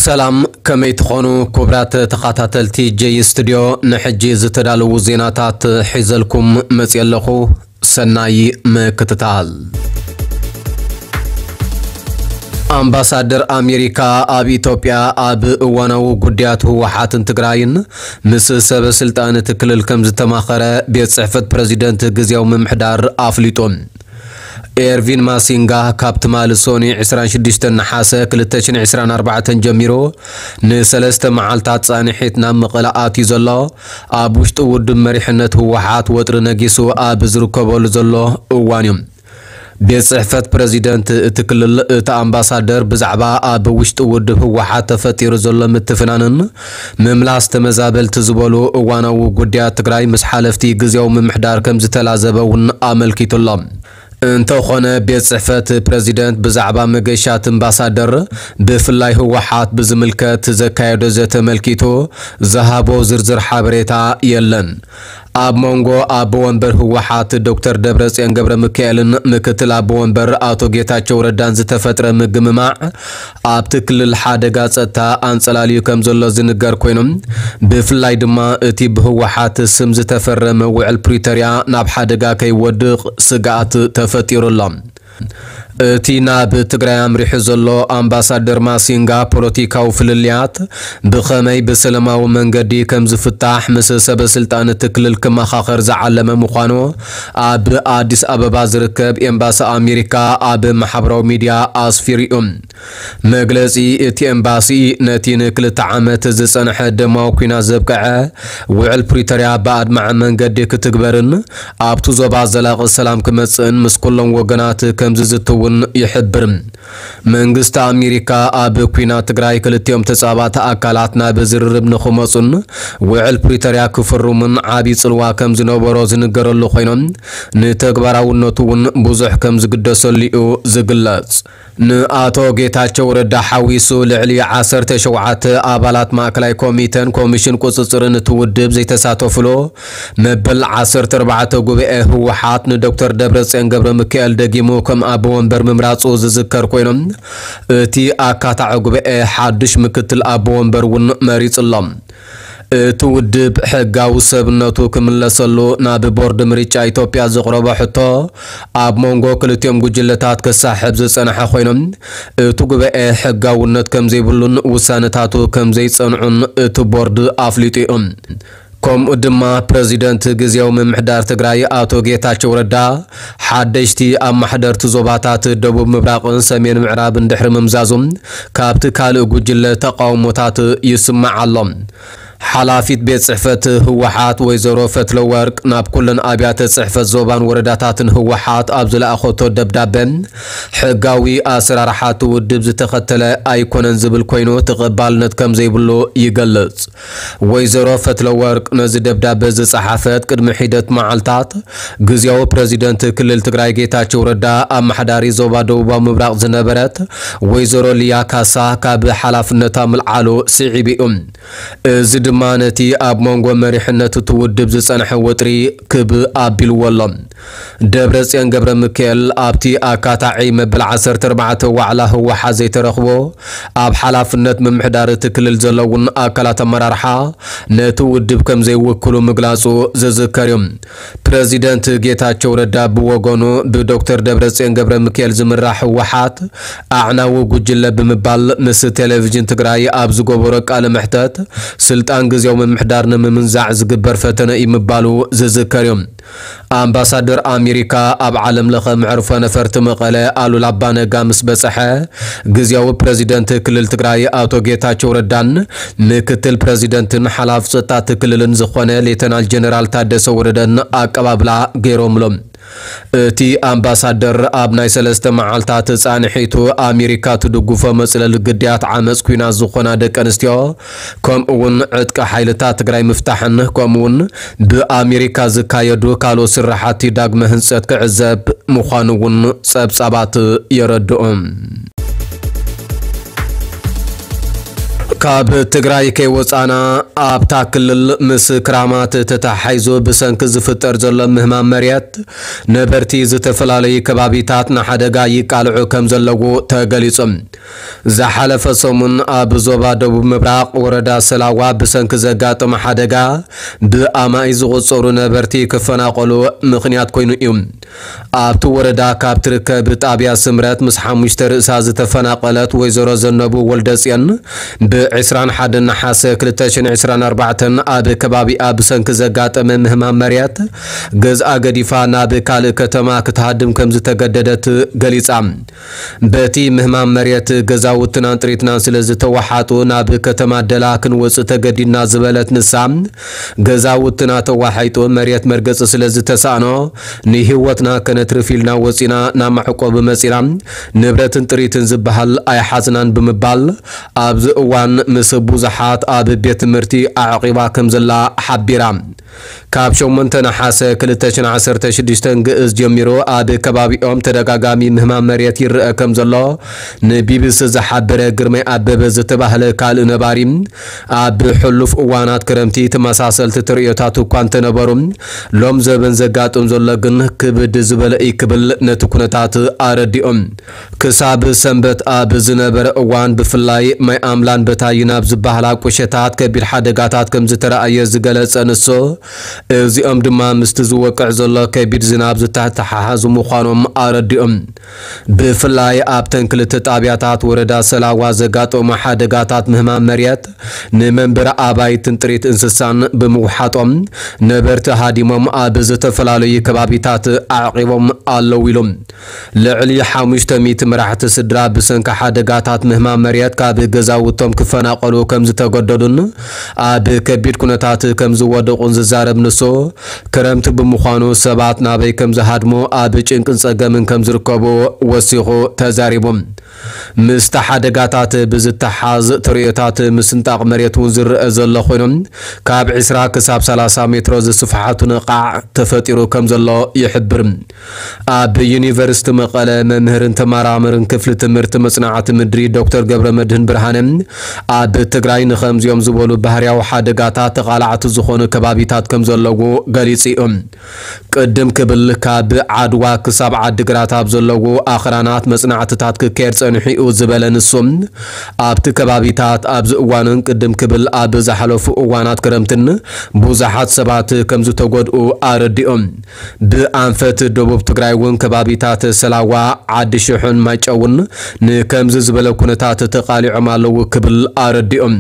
ሰላም፣ ከመይ ትኾኑ ክቡራት ተኸታተልቲ ጀይ ስቱድዮ? ንሕጂ ዝተዳለዉ ዜናታት ሒዘልኩም መፅየ ኣለኹ። ሰናይ ምክትታል። ኣምባሳደር ኣሜሪካ ኣብ ኢትዮጵያ ኣብ እዋናዊ ጉዳያት ህወሓትን ትግራይን ምስ ሰበ ስልጣን እቲ ክልል ከም ዝተማኸረ ቤት ጽሕፈት ፕረዚደንት ግዝያዊ ምምሕዳር ኣፍሊጡ። ኤርቪን ማሲንጋ ካብ ትማሊ ሶኒ ዕስራን ሽዱሽተን ነሓሰ ክልተ ሽሕን ዕስራን ኣርባዕተን ጀሚሩ ንሰለስተ መዓልታት ጻንሒት ናብ መቐለ ኣትዩ ዘሎ፣ ኣብ ውሽጢ ውድብ መሪሕነት ህወሓት ወጥሪ ነጊሱ ኣብ ዝርከበሉ ዘሎ እዋን እዩ። ቤት ጽሕፈት ፕረዚደንት እቲ ክልል እቲ ኣምባሳደር ብዛዕባ ኣብ ውሽጢ ውድብ ህወሓት ተፈጢሩ ዘሎ ምትፍናንን ምምላስ ተመዛበልቲ ዝበሉ እዋናዊ ጉዳያት ትግራይ ምስ ሓለፍቲ ግዝያዊ ምምሕዳር ከም ዝተላዘበ እውን ኣመልኪቱ ኣሎ። እንተኾነ ቤት ጽሕፈት ፕረዚደንት ብዛዕባ መገሻት ኣምባሳደር ብፍላይ ህወሓት ብዝምልከት ዘካየዶ ዘተ ኣመልኪቱ ዝሃቦ ዝርዝር ሓበሬታ የለን። ኣብ መንጎ ኣቦ ወንበር ህወሓት ዶክተር ደብረጽዮን ገብረ ሚካኤልን ምክትል ኣቦ ወንበር ኣቶ ጌታቸው ረዳን ዝተፈጥረ ምግምማዕ ኣብቲ ክልል ሓደጋ ጸጥታ ኣንጸላልዩ ከም ዘሎ ዝንገር ኮይኖም፣ ብፍላይ ድማ እቲ ብህወሓት ስም ዝተፈረመ ውዕል ፕሪቶርያ ናብ ሓደጋ ከይወድቕ ስግኣት ተፈጢሩ ኣሎ። እቲ ናብ ትግራይ ኣምሪሑ ዘሎ ኣምባሳደር ማሲንጋ ፖለቲካዊ ፍልልያት ብኸመይ ብሰላማዊ መንገዲ ከም ዝፍታሕ ምስ ሰበ ስልጣን እቲ ክልል ክመኻኸር ዝዓለመ ምዃኑ ኣብ ኣዲስ ኣበባ ዝርከብ ኤምባሲ ኣሜሪካ ኣብ ማሕበራዊ ሚድያ ኣስፊሩ እዩ። መግለጺ እቲ ኤምባሲ ነቲ ንክልተ ዓመት ዝጸንሐ ደማዊ ኲናት ዘብቅዐ ውዕል ፕሪቶርያ ብኣድማዒ መንገዲ ክትግበርን ኣብቲ ዞባ ዘላቒ ሰላም ክመጽእን ምስ ኩሎም ወገናት ከም ዝዝቲ እውን ይሕብር። መንግስቲ ኣሜሪካ ኣብ ኲናት ትግራይ ክልቲኦም ተጻባእቲ ኣካላት ናብ ዝርርብ ንኽመጹን ውዕል ፕሪቶርያ ክፍርሙን ዓቢ ጽልዋ ከም ዝነበሮ ዝንገረሉ ኮይኖም፣ ንተግባራውነቱ እውን ብዙሕ ከም ዝግደሰሉ እዩ ዝግለጽ። ንኣቶ ጌታቸው ረዳ ሓዊሱ ልዕሊ ዓሰርተ ሸውዓተ ኣባላት ማእከላይ ኮሚተን ኮሚሽን ቁጽጽርን እቲ ውድብ ዘይተሳተፉሉ መበል ዓሰርተ ኣርባዕተ ጉባኤ ህወሓት ንዶክተር ደብረጽዮን ገብረ ሚካኤል ደጊሙ ከም ኣቦ ወንበር ምምራጹ ዝዝከር ኮይኖም፣ እቲ ኣካታዒ ጉባኤ ሓዱሽ ምክትል ኣቦ ወንበር እውን መሪጹ ኣሎ። እቲ ውድብ ሕጋዊ ሰብነቱ ክምለሰሉ ናብ ቦርድ ምርጫ ኢትዮጵያ ዘቕረቦ ሕቶ ኣብ መንጎ ክልቲኦም ጉጅለታት ክሳሕብ ዝጸንሐ ኮይኖም፣ እቲ ጉባኤ ሕጋውነት ከም ዘይብሉን ውሳነታቱ ከም ዘይጸንዑን እቲ ቦርድ ኣፍሊጡ እዩ። ከምኡ ድማ ፕረዚደንት ግዝያዊ ምምሕዳር ትግራይ ኣቶ ጌታቸው ረዳ ሓደሽቲ ኣማሕደርቲ ዞባታት ደቡብ ምብራቕን ሰሜን ምዕራብን ድሕሪ ምምዛዙ ካብቲ ካልእ ጉጅለ ተቃውሞታት ይስማዕ ኣሎ። ሓላፊት ቤት ጽሕፈት ህወሓት ወይዘሮ ፈትለወርቅ ናብ ኩለን ኣብያተ ጽሕፈት ዞባን ወረዳታትን ህወሓት ኣብ ዝለኣኸቶ ደብዳበ፣ ሕጋዊ ኣሰራርሓ እቲ ውድብ ዝተኸተለ ኣይኮነን ዝብል ኮይኑ ተቐባልነት ከም ዘይብሉ ይገልጽ። ወይዘሮ ፈትለወርቅ ነዚ ደብዳበ ዝጸሓፈት ቅድሚ ሒደት መዓልታት፣ ግዝያዊ ፕረዚደንት ክልል ትግራይ ጌታቸው ረዳ ኣመሓዳሪ ዞባ ደቡባዊ ምብራቕ ዝነበረት ወይዘሮ ሊያ ካሳ ካብ ሓላፍነታ ምልዓሉ ስዒቡ እዩ። እዚ ድማ ነቲ ኣብ መንጎ መሪሕነት እቲ ውድብ ዝጸንሐ ወጥሪ ክብ ኣቢልዎ ኣሎ። ደብረጽዮን ገብረ ሚካኤል ኣብቲ ኣካታዒ መበል ዓሰርተ ኣርባዕተ ዋዕላ ህወሓት ዘይተረኽቦ፣ ኣብ ሓላፍነት ምምሕዳር እቲ ክልል ዘለውን ኣካላት ኣመራርሓ ነቲ ውድብ ከም ዘይውክሉ ምግላጹ ዝዝከር እዩ። ፕረዚደንት ጌታቸው ረዳ ብወገኑ ብዶክተር ደብረጽዮን ገብረ ሚካኤል ዝምራሕ ህወሓት ኣዕናዊ ጉጅለ ብምባል ምስ ቴሌቪዥን ትግራይ ኣብ ዝገበሮ ቃለ መሕተት ስልጣን ግዝያዊ ምምሕዳር ንምምንዛዕ ዝግበር ፈተነ እዩ ምባሉ ዝዝከር እዩ። ኣምባሳደር ኣሜሪካ ኣብ ዓለም ለኸ መዕርፎ ነፈርቲ መቐለ ኣሉላ ኣባነጋ ምስ በጽሐ፣ ግዝያዊ ፕረዚደንት ክልል ትግራይ ኣቶ ጌታቸው ረዳን ምክትል ፕረዚደንትን ሓላፊ ጸጥታ እቲ ክልልን ዝኾነ ሌተናል ጀነራል ታደሰ ወረደን ኣቀባብላ ገይሮምሎም። እቲ ኣምባሳደር ኣብ ናይ ሰለስተ መዓልታት ጻንሒቱ ኣሜሪካ ትድግፎ መጽለሊ ግዳያት ዓመጽ ኲናት ዝኾና ደቂ ኣንስትዮ ከምኡ እውን ዕጥቂ ሓይልታት ትግራይ ምፍታሕን ከምኡ እውን ብኣሜሪካ ዝካየዱ ካልኦት ስራሓቲ ዳግመ ህንጸት ክዕዘብ ምዃኑ እውን ጸብጻባት የረድኡ። ካብ ትግራይ ከይወፃና ኣብታ ክልል ምስ ክራማት ተተሓሒዙ ብሰንኪ ዝፍጠር ዘሎ ምህማም መሬት ነበርቲ ዝተፈላለዩ ከባቢታት ንሓደጋ ይቃልዑ ከም ዘለዉ ተገሊጹ። ዝሓለፈ ሰሙን ኣብ ዞባ ደቡብ ምብራቕ ወረዳ ሰላዋ ብሰንኪ ዘጋጠመ ሓደጋ ብኣማኢ ዝቑጸሩ ነበርቲ ክፈናቐሉ ምኽንያት ኮይኑ እዩ። ኣብቲ ወረዳ ካብ ትርከብ ጣብያ ስምረት ምስ ሓሙሽተ ርእሳ ዝተፈናቐለት ወይዘሮ ዘነቡ ወልደጽዮን ብ ዕስራን ሓደን ነሓሰ ክልተ ሽሕን ዕስራን ኣርባዕተን ኣብ ከባቢኣ ብሰንኪ ዘጋጠመ ምህማም መሬት ገዝኣ ገዲፋ ናብ ካልእ ከተማ ክትሃድም ከም ዝተገደደት ገሊጻ። በቲ ምህማም መሬት ገዛውትናን ጥሪትናን ስለ ዝተወሓጡ ናብ ከተማ ደላ ክንወጽእ ተገዲድና ዝበለት ንሳ፣ ገዛውትና ተዋሒጡ መሬት መርገጺ ስለ ዝተሳእኖ ንህይወትና ከነትርፍ ኢልና ወጺና ናብ መዕቆቢ መጺና፣ ንብረትን ጥሪትን ዝበሃል ኣይሓዝናን ብምባል ኣብዚ እዋን ምስ ብዙሓት ኣብ ቤት ትምህርቲ ኣዕቒባ ከም ዘላ ሓቢራ። ካብ ሸሞንተ ነሓሰ ክልተ ሽሕን ዓሰርተ ሽዱሽተን ግእዝ ጀሚሩ ኣብ ከባቢኦም ተደጋጋሚ ምህማም መሬት ይረአ ከም ዘሎ ንቢቢሲ ዝሓበረ ግርማይ ኣበበ ዝተባህለ ካልእ ነባሪ፣ ኣብ ሕሉፍ እዋናት ክረምቲ ተመሳሰልቲ ትርእዮታት እኳ እንተነበሩ፣ ሎም ዘበን ዘጋጥም ዘሎ ግን ክብድ ዝበለ እዩ ክብል ነቲ ኩነታት ኣረዲኦም። ክሳብ ሰንበት ኣብ ዝነበረ እዋን ብፍላይ ማይ ኣምላን በታይን ኣብ ዝበሃላ ቁሸታት ከቢድ ሓደጋታት ከም ዝተረኣየ ዝገለጸ ንሱ፣ እዚኦም ድማ ምስቲ ዝወቅዕ ዘሎ ከቢድ ዝናብ ዝተተሓሓዙ ምዃኖም ኣረዲኦም። ብፍላይ ኣብተን ክልተ ጣብያታት ወረዳ ሰላዋ ዘጋጠሙ ሓደጋታት ምህማም መሬት ንመንበሪ ኣባይትን ጥሪት እንስሳን ብምውሓጦም ነበርቲ ሃዲሞም ኣብ ዝተፈላለዩ ከባቢታት ኣዕቒቦም ኣለዉ ኢሎም። ልዕሊ ሓሙሽተ ሚእቲ መራሕቲ ስድራ ብሰንኪ ሓደጋታት ምህማም መሬት ካብ ገዛውቶም ክፈናቐሉ ከም ዝተገደዱን ኣብ ከቢድ ኩነታት ከም ዝወደቑን ዝዛረብ ንሱ፣ ክረምቲ ብምዃኑ ሰባት ናበይ ከም ዝሃድሙ ኣብ ጭንቅን ጸገምን ከም ዝርከቡ ወሲኹ ተዛሪቡ። ምስቲ ሓደጋታት ብዝተሓዝ ትርእዮታት ምስንጣቕ መሬት እውን ዝረአ ዘሎ ኮይኑ፣ ካብ ዕስራ ክሳብ ሰላሳ ሜትሮ ዝስፍሓቱ ነቓዕ ተፈጢሩ ከም ዘሎ ይሕብር። ኣብ ዩኒቨርሲቲ መቐለ መምህርን ተመራመርን ክፍሊ ትምህርቲ መጽናዕቲ ምድሪ ዶክተር ገብረ መድህን ብርሃነ፣ ኣብ ትግራይ ንኸምዚኦም ዝበሉ ባህርያዊ ሓደጋታት ተቓላዕቲ ዝኾኑ ከባቢታት ከም ዘለዉ ገሊጹ እዩ። ቅድም ክብል ካብ ዓድዋ ክሳብ ዓዲግራት ኣብ ዘለዉ ኣኽራናት መጽናዕትታት ክካየድ ጸኒሑ እዩ ዝበለ ንሱ፣ ኣብቲ ከባቢታት ኣብዚ እዋንን ቅድም ክብል ኣብ ዝሓለፉ እዋናት ክረምትን ብዙሓት ሰባት ከም ዝተጎድኡ ኣረዲኦም። ብኣንፈት ደቡብ ትግራይ እውን ከባቢታት ሰላዋ፣ ዓዲ ሽሑን ማይጨውን ንከምዚ ዝበለ ኩነታት ተቓሊዖም ኣለዉ ክብል ኣረዲኦም።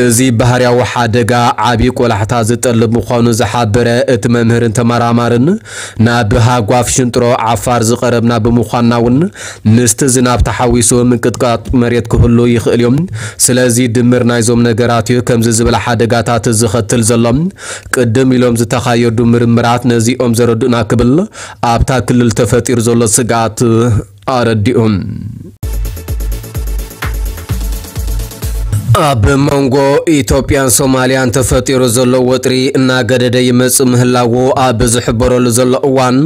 እዚ ባህርያዊ ሓደጋ ዓቢ ቆላሕታ ዝጠልብ ምዃኑ ዝሓበረ እቲ መምህርን ተመራማርን፣ ናብ ሃጓፍ ሽንጥሮ ዓፋር ዝቐረብና ብምዃንና እውን ምስቲ ዝናብ ተሓዊሱ ምንቅጥቃጥ መሬት ክህሉ ይኽእል እዩ። ስለዚ ድምር ናይዞም ነገራት እዩ ከምዚ ዝበለ ሓደጋታት ዝኸትል ዘሎ። ቅድም ኢሎም ዝተኻየዱ ምርምራት ነዚኦም ዘረድኡና ክብል ኣብታ ክልል ተፈጢሩ ዘሎ ስግኣት ኣረዲኡ። ኣብ መንጎ ኢትዮጵያን ሶማልያን ተፈጢሩ ዘሎ ወጥሪ እናገደደ ይመጽእ ምህላዉ ኣብ ዝሕበረሉ ዘሎ እዋን፣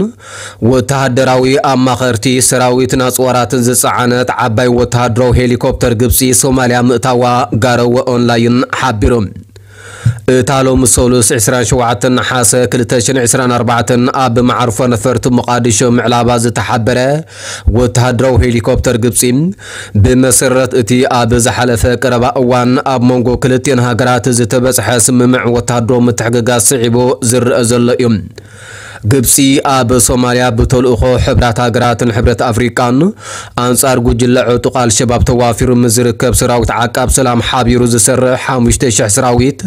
ወተሃደራዊ ኣማኸርቲ ሰራዊትን ኣጽዋራትን ዝጸዓነት ዓባይ ወተሃደራዊ ሄሊኮፕተር ግብጺ ሶማልያ ምእታዋ ጋረወ ኦንላይን ሓቢሩ። እታ ሎሚ ሰሉስ ዕስራን ሸውዓተን ነሓሰ ክልተ ሽሕን ዕስራን ኣርባዕተን ኣብ መዓርፎ ነፈርቲ ሞቓዲሾ ምዕላባ ዝተሓበረ ወተሃደራዊ ሄሊኮፕተር ግብጺ፣ ብመሰረት እቲ ኣብ ዝሓለፈ ቀረባ እዋን ኣብ መንጎ ክልቲኤን ሃገራት ዝተበጽሐ ስምምዕ ወተሃደራዊ ምትሕግጋዝ ስዒቡ ዝረአ ዘሎ እዩ። ግብጺ ኣብ ሶማልያ ብተልእኾ ሕብራት ሃገራትን ሕብረት ኣፍሪቃን ኣንጻር ጉጅለ ዕጡቕ ኣልሸባብ ተዋፊሩ ምስ ዝርከብ ሰራዊት ዓቃብ ሰላም ሓቢሩ ዝሰርሕ ሓሙሽተ ሽሕ ሰራዊት፣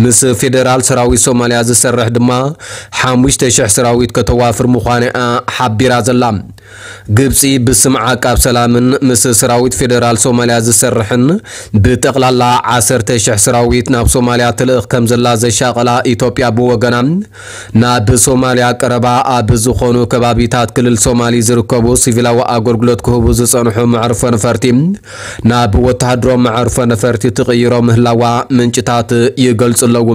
ምስ ፌደራል ሰራዊት ሶማልያ ዝሰርሕ ድማ ሓሙሽተ ሽሕ ሰራዊት ከተዋፍር ምዃና እያ ሓቢራ ዘላ። ግብጺ ብስም ዓቃብ ሰላምን ምስ ሰራዊት ፌደራል ሶማልያ ዝሰርሕን ብጠቕላላ ዓሰርተ ሽሕ ሰራዊት ናብ ሶማልያ ትልእኽ ከም ዘላ ዘሻቐላ ኢትዮጵያ ብወገና፣ ናብ ሶማልያ ቀረባ ኣብ ዝኾኑ ከባቢታት ክልል ሶማሊ ዝርከቡ ሲቪላዊ ኣገልግሎት ክህቡ ዝጸንሑ መዕርፎ ነፈርቲ ናብ ወተሃደራዊ መዕርፎ ነፈርቲ ትቕይሮ ምህላዋ ምንጭታት ይገልጹ ኣለዉ።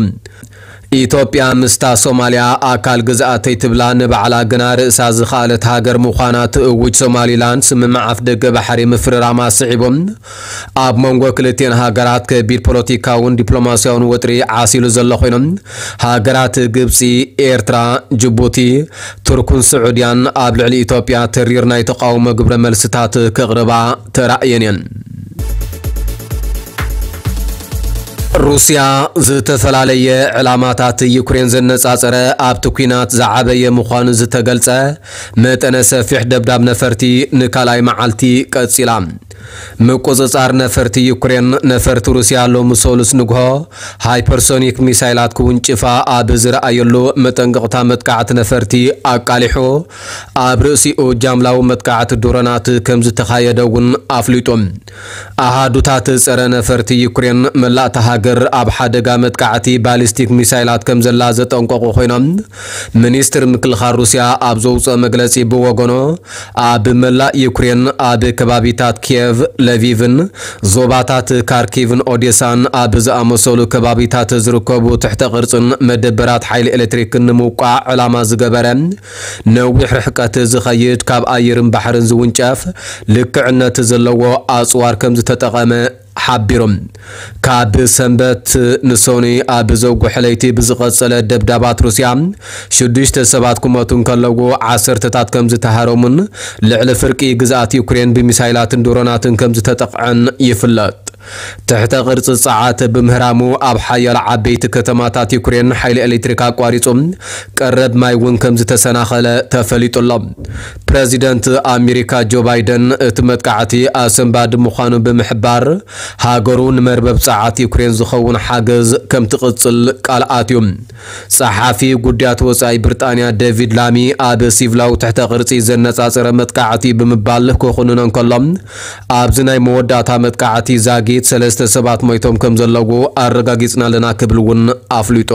ኢትዮጵያ ምስታ ሶማልያ ኣካል ግዝኣተይ ትብላ ንባዕላ ግና ርእሳ ዝኸኣለት ሃገር ምዃና ትእውጅ ሶማሊላንድ፣ ስምምዕ ኣፍ ደገ ባሕሪ ምፍርራማ ስዒቡ፣ ኣብ መንጎ ክልቲኤን ሃገራት ከቢድ ፖለቲካውን ዲፕሎማስያውን ወጥሪ ዓሲሉ ዘሎ ኮይኑ፣ ሃገራት ግብጺ፣ ኤርትራ፣ ጅቡቲ፣ ቱርኩን ስዑድያን ኣብ ልዕሊ ኢትዮጵያ ተሪር ናይ ተቓውሞ ግብረ መልስታት ከቕርባ ተራእየን እየን። ሩስያ ዝተፈላለየ ዕላማታት ዩክሬን ዘነጻጸረ ኣብቲ ኲናት ዝዓበየ ምዃኑ ዝተገልጸ መጠነ ሰፊሕ ደብዳብ ነፈርቲ ንካልኣይ መዓልቲ ቀጺላ። ምቁጽጻር ነፈርቲ ዩክሬን ነፈርቲ ሩስያ ሎሚ ሰሉስ ንግሆ ሃይፐርሶኒክ ሚሳይላት ክውንጭፋ ኣብ ዝረኣየሉ መጠንቀቕታ መጥቃዕቲ ነፈርቲ ኣቃሊሑ ኣብ ርእሲኡ ጃምላዊ መጥቃዕቲ ድሮናት ከም ዝተኻየደ እውን ኣፍሊጡ። ኣሃዱታት ጸረ ነፈርቲ ዩክሬን መላእታ ሃገር ኣብ ሓደጋ መጥቃዕቲ ባሊስቲክ ሚሳይላት ከም ዘላ ዘጠንቀቑ ኮይኖም፣ ሚኒስትር ምክልኻል ሩስያ ኣብ ዘውፅኦ መግለፂ ብወገኖ ኣብ መላእ ዩክሬን ኣብ ከባቢታት ኪየቭ፣ ለቪቭን ዞባታት ካርኪቭን ኦዴሳን ኣብ ዝኣመሰሉ ከባቢታት ዝርከቡ ትሕተ ቅርፅን መደበራት ሓይሊ ኤሌክትሪክን ንምውቃዕ ዕላማ ዝገበረ ነዊሕ ርሕቀት ዝኸይድ ካብ ኣየርን ባሕርን ዝውንጨፍ ልክዕነት ዘለዎ ኣፅዋር ከም ዝተጠቐመ ሓቢሮም። ካብ ሰንበት ንሰኑይ ኣብ ዘጉሕ ለይቲ ብዝቐጸለ ደብዳባት ሩስያ ሽዱሽተ ሰባት ክሞቱ እንከለዉ ዓሰርተታት ከም ዝተሃረሙን ልዕሊ ፍርቂ ግዝኣት ዩክሬን ብሚሳይላትን ድሮናትን ከም ዝተጠቕዐን ይፍለጥ። ትሕተ ቅርጺ ጸዓት ብምህራሙ ኣብ ሓያሎ ዓበይቲ ከተማታት ዩክሬን ሓይሊ ኤሌክትሪክ ኣቋሪጹ ቀረብ ማይ እውን ከም ዝተሰናኸለ ተፈሊጡ ኣሎ። ፕረዚደንት ኣሜሪካ ጆ ባይደን እቲ መጥቃዕቲ ኣሰንባዲ ምዃኑ ብምሕባር ሃገሩ ንመርበብ ጸዓት ዩክሬን ዝኸውን ሓገዝ ከም ትቕጽል ቃል ኣትዩ። ጸሓፊ ጉዳያት ወጻኢ ብሪጣንያ ዴቪድ ላሚ ኣብ ሲቪላዊ ትሕተ ቅርጺ ዘነጻጸረ መጥቃዕቲ ብምባል ክኹንኖ እንከሎ፣ ኣብዚ ናይ መወዳእታ መጥቃዕቲ ዛጊት ሰለስተ ሰባት ሞይቶም ከም ዘለዉ ኣረጋጊጽና ኣለና ክብል እውን ኣፍሊጡ።